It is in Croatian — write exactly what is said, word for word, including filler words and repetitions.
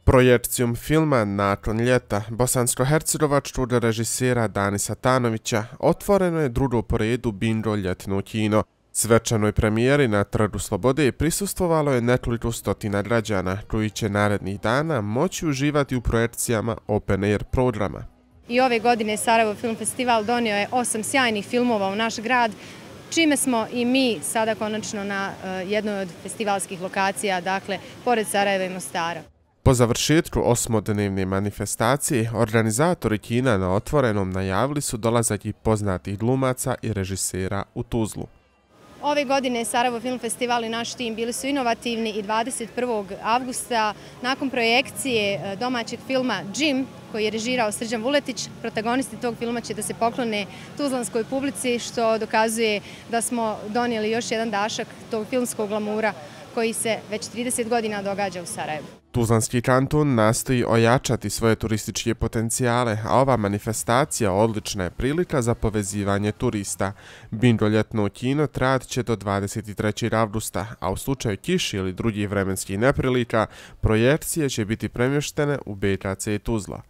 Projekcijom filma Nakon ljeta bosansko-hercegovačkog režisera Danisa Tanovića otvoreno je drugo po redu Bingo ljetno kino. Svečanoj premijeri na Trgu Slobode prisustvovalo je nekoliko stotina građana koji će narednih dana moći uživati u projekcijama Open Air programa. I ove godine Sarajevo Film Festival donio je osam sjajnih filmova u naš grad, čime smo i mi sada konačno na jednoj od festivalskih lokacija, dakle, pored Sarajeva i Mostara. Po završetku osmodnevne manifestacije, organizatori kina na otvorenom najavili su dolazak i poznatih glumaca i režisera u Tuzlu. Ove godine Sarajevo Film Festival i naš tim bili su inovativni i dvadeset prvog avgusta nakon projekcije domaćeg filma Jim, koji je režirao Srđan Vuletić, protagonisti tog filma će da se poklone tuzlanskoj publici, što dokazuje da smo donijeli još jedan dašak tog filmskog glamura koji se već trideset godina događa u Sarajevu. Tuzlanski kanton nastoji ojačati svoje turističke potencijale, a ova manifestacija odlična je prilika za povezivanje turista. Bingo ljetno kino trajat će do dvadeset trećeg avgusta, a u slučaju kiše ili drugih vremenskih neprilika, projekcije će biti premještene u B K C Tuzla.